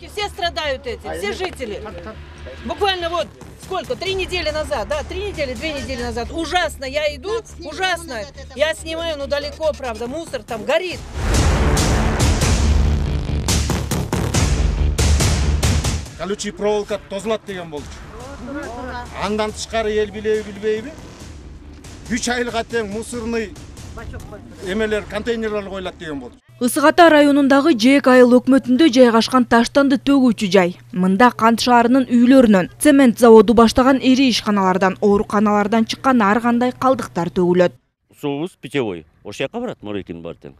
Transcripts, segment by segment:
Все страдают эти, все жители. Буквально вот сколько, 3 недели назад, да, 3 недели, 2 недели назад. Ужасно, я иду, ужасно. Я снимаю, но далеко, правда, мусор там горит. Колючий проволока тозулат деген болчу. Андан тышкары эл билбейби? 3 айылга тең мусорный эмелер, контейнерлер коюлат деген болчу. Ысык Ата районундагы Жээк айыл өкмөтүндө жайгашкан таштанды төгүүчү жай. Мында Кант шаарынын үйлөрүнөн, цемент заводу баштаган ири ишканалардан, ооруканалардан чыккан ар кандай калдыктар төгүлөт. Суубуз питьевой ошол жака барат, Морекин бар тең.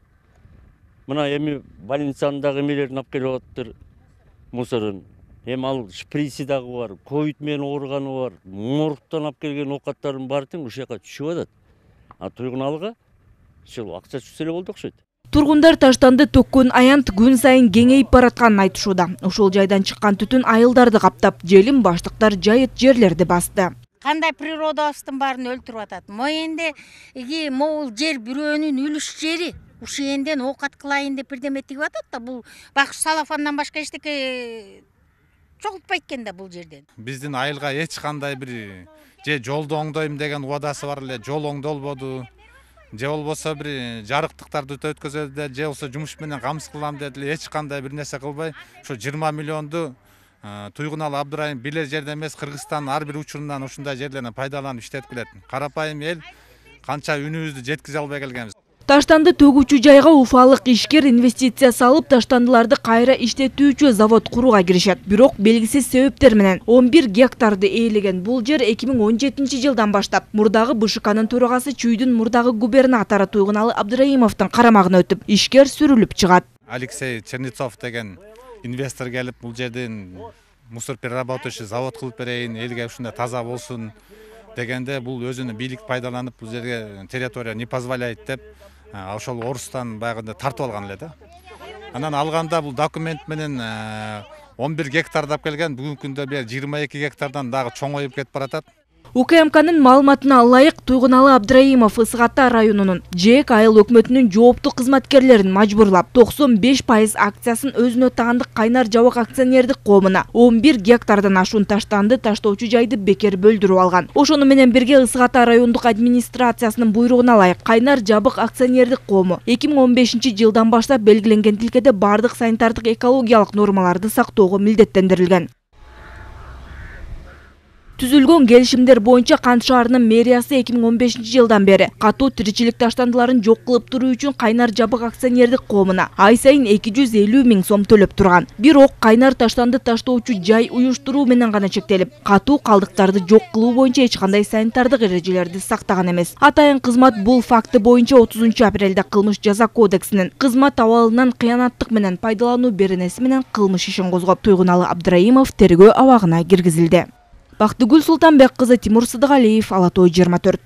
Мына эми больницанын дагы эмелерин алып келип атыптыр, мусорун. Эми ал шприси дагы бар, ковид менен ооруганы бар, моргтон алып келген оокаттардын баары тең ушул жака түшүп атат. А Туйгуналга ушул акча түшсө эле болду окшойт. Тургундар таштанды төккөн аянт күн сайын кеңейип баратканын айтышууда. Ошол жайдан чыккан түтүн айылдарды каптап, желим баштыктар жайыт жерлерди басты. Кандай природабыздын баарын өлтүрүп атат. Моенде могул жер бирөөнүн үлүш жери. Ушенден оокат кылайын деп бирдеме тигип атат да, бул бакш салафандан башка эчтеке чогултпайт экен да бул жерден. Биздин айылга эч кандай бир же жолду оңдойм деген убадасы бар эле, жол оңдолбоду. Же болбосо бир жарыктыктарды өткөзөдү, же болбосо жумуш менен камсыз кылам деди, эч кандай бир нерсе кылбай, ошо 20 миллионду Туйгуналы Абдырайым билер жерден эмес, Кыргызстандын ар бир учурунан ушундай жерлерден пайдаланып иштетип келет. Карапайым эл канча үнүбүздү жеткизе албай келгенбиз. Таштанды төгүүчү жайга уфалык ишкер инвестиция салып, таштандыларды кайра иштетүүчү завод курууга киришет. Бирок белгисиз себептер менен 11 гектарды ээлеген бул жер 2017 жылдан баштап мурдагы БШКнын төрагасы Чүйдүн мурдагы губернатору Туйгуналы Абдыраимовдун карамагына өтүп, ишкер сүрүлүп чыгат. Алексей Чернецов деген инвестор келип бул жерден мусор переработающий завод кылып берейин, элге ушундай таза болсун дегенде бул өзүнүн бийлик пайдаланып бул жерге территория не позволяет деп ошол орустан баягында тартып алган эле да. Анан алганда бул документ менен 11 гектарды алып келген, бүгүнкү күндө 22 гектардан дагы чоңоюп кетип баратат. УКМКнын маалыматына ылайык, Туйгуналы Абдыраимов Ысык Ата районунун Жээк айыл өкмөтүнүн жооптуу кызматкерлерин мажбурлап 95% акциясын өзүнө таандык Кайнар Жабык акционердик коомуна 11 гектардан ашуун таштанды таштоочу жайды бекер бөлдүрүп алган. Ошону менен бирге Ысык Ата райондук администрациясынын буйругуна ылайык Кайнар Жабык акционердик коому 2015 жылдан баштап белгиленген тилкеде бардык санитардык экологиялык нормаларды сактоого милдеттендирилген. Түзүлгөн келишимдер боюнча Кант шаарынын мэриясы 2015 жылдан бери катуу тиричилик таштандыларын жок кылып туруу үчүн Кайнар Жабык акционердик коомуна ай сайын 250 000 сом төлөп турган. Бирок Кайнар таштанды таштоочу жай уюштуруу менен гана чектелип, катуу калдыктарды жок кылуу боюнча эч кандай санитардык эрежелерди сактаган эмес. Атайын кызмат бул факты боюнча 30 апрелде кылмыш жаза кодексинин кызмат абалынан кыянаттык менен пайдалануу беренеси менен кылмыш ишин козгоп, Туйгуналы Абдыраимов тергөө абагына киргизилди. Бактыгүл Султанбек кызы, Тимур Сыдыгалиев, Ала Той 24.